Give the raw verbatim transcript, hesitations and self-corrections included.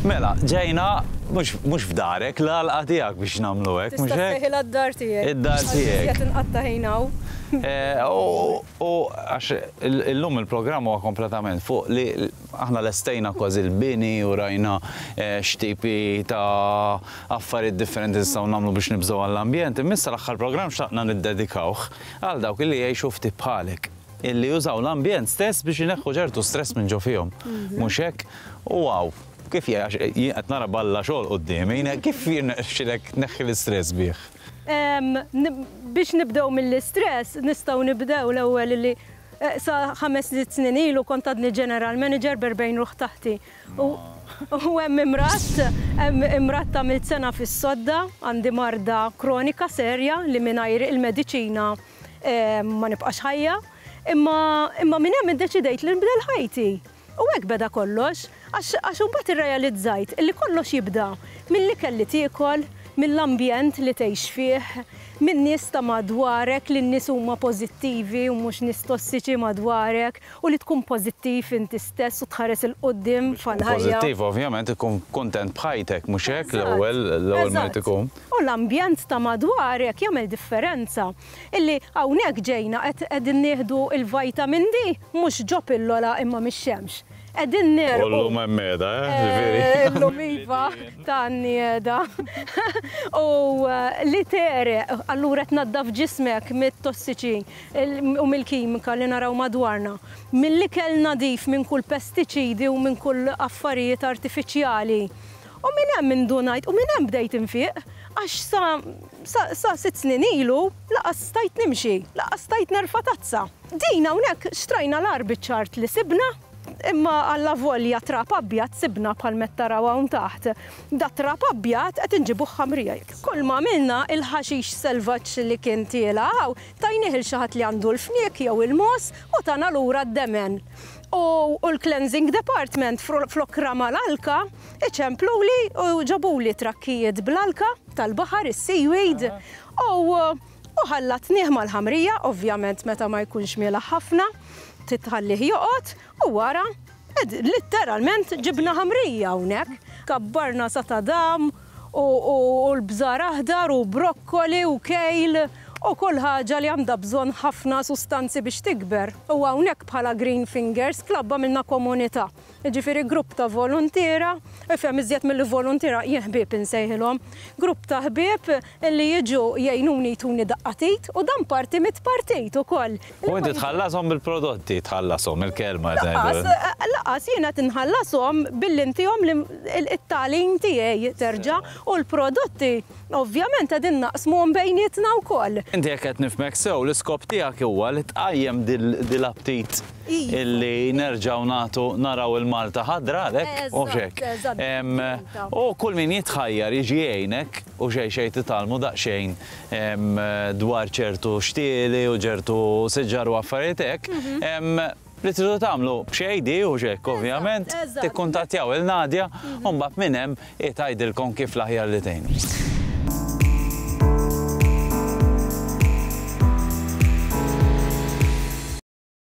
Mela, ġejna mhux f'darek, l-għalqa tiegħek biex nagħmlu hekk, mhux Tista' hekk? ssejħilha d-dar tiegħek. Id-dar tiegħek. Qed inqatta' ħin hawn. Eh, U u għax il- illum il-programm huwa kompletament fuq li aħna lestejna kważi l-bini u rajna eh, x'tipi ta' affarijiet differenti nistgħu nagħmlu biex nibżgħu għall-ambjent. Imma issa l-aħħar programm xtaqna niddedikawh għal dawk li jgħixu ftit bħalek, illi jużaw l-ambjent stess biex ineħħu ċertu stress minn ġo fihom. Mhux hekk? U wow, kif jgħax jien qed nara balla xogħol quddiemi, kif jirnexxilek tneħħi l-istress bih? Em, nib- Biex nibdew mill-istress, nistgħu nibdew l-ewwel li eh, sa ħames snin ilu kont għadni general manager b'erbgħin ruħ taħti. U u hemm imradt, hemm imradt, għamilt sena fis-sodda, għandi marda kronika serja li mingħajr il-mediċina eh, ma nibqax ħajja. Imma imma minn hemm iddeċidejt li nbdel ħajti. U hekk beda kollox, għax għax imbagħad irrealizzajt li kollox jibda mill-ikel li tiekol, mill-ambjent li tgħix fih, minn nies ta' madwarek, li n-nies huma pożittivi u mhux nies tossiċi madwarek, u li tkun pożittiv inti stess u tħares 'il quddiem fil-ħajja. Pożittiv, ovvjament, ikun kontent b'ħajtek, mhux hekk l-ewwel l-ewwel ma Eżatt. ikun. U l-ambjent ta' madwarek jagħmel differenza. Illi hawnhekk ġejna qed qegħdin nieħdu il-vitamin D mhux ġo pillola imma mix-xemx. Qegħdin nerqu. U llum hemm meda, eh, Eh, ġifieri. Illum iva, tan-nieda. U eh, li tegħreq, allura tnaddaf ġismek mit-tossiċi il- u mill-kimika li naraw madwarna. Mill-ikel nadif minn kull pestiċidi u minn kull affarijiet artifiċjali. U minn hemm indunajt, u minn hemm bdejt infiq, għax sa, sa, sa sitt snin ilu lanqas stajt nimxi, lanqas stajt nerfa' tazza. Din hawnhekk xtrajna l-agħar ċart li sibna, imma għalla volja trab abjad sibna bħal taraw hawn taħt. Da trab abjad qed inġibuh ħamrija. Kull ma għamilna, il-ħaxix selvaġġ li kien tiela' hawn, tajnieh lil xi ħadd li għandu l-fniek jew il-mogħoż u tana lura d-demen. U u l-cleansing department flok rama l-alka, iċempluli u ġabuli trakkijiet bl-alka tal-baħar, is-seaweed, u u ħallatnieh mal-ħamrija, ovvjament meta ma jkunx miela ħafna, titħallih joqgħod u wara ed, literalment ġibna ħamrija hawnhekk. Kabbarna satadam u, u, u l-bżar aħdar u brokkoli u kale u kull ħaġa li għandha bżonn ħafna sustanzi biex tikber. U hawnhekk bħala Green Fingers Club għamilna komunità. Ġifieri grupp ta' volontiera, ifhem iżjed mill-volontiera, jien ħbieb insejħilhom, grupp ta' ħbieb li jiġu jgħinuni, jtuni daqqa t'id u dan parti mit-partit ukoll. U inti tħallashom bil-prodotti, tħallashom il-kelma. Lanqas, lanqas, jiena tinħallashom billi ntihom it-tagħlim tiegħi terġa' u l-prodotti ovvjament qegħdin naqsmuhom bejnietna wkoll. Inti jekk qed nifhmek sew, l-iskop tiegħek huwa li tqajjem dil-aptit Iva. illi nerġgħu nagħtu naraw il-Malta ħadra għalhekk u Eżatt, xek. eżatt. Em, U kull min jitħajjar jiġi jgħinek u xejn xejn titgħallmu daqsxejn em, dwar ċertu xtieli u ċertu siġar u affarijiet hekk. Mhm. Em, Li tridu tagħmlu b'xejn di u xek, ovvjament, eżatt. tikkuntattjaw il-Nadja u mbagħad minn hemm tgħidilkom kif l-aħjar li tgħinu.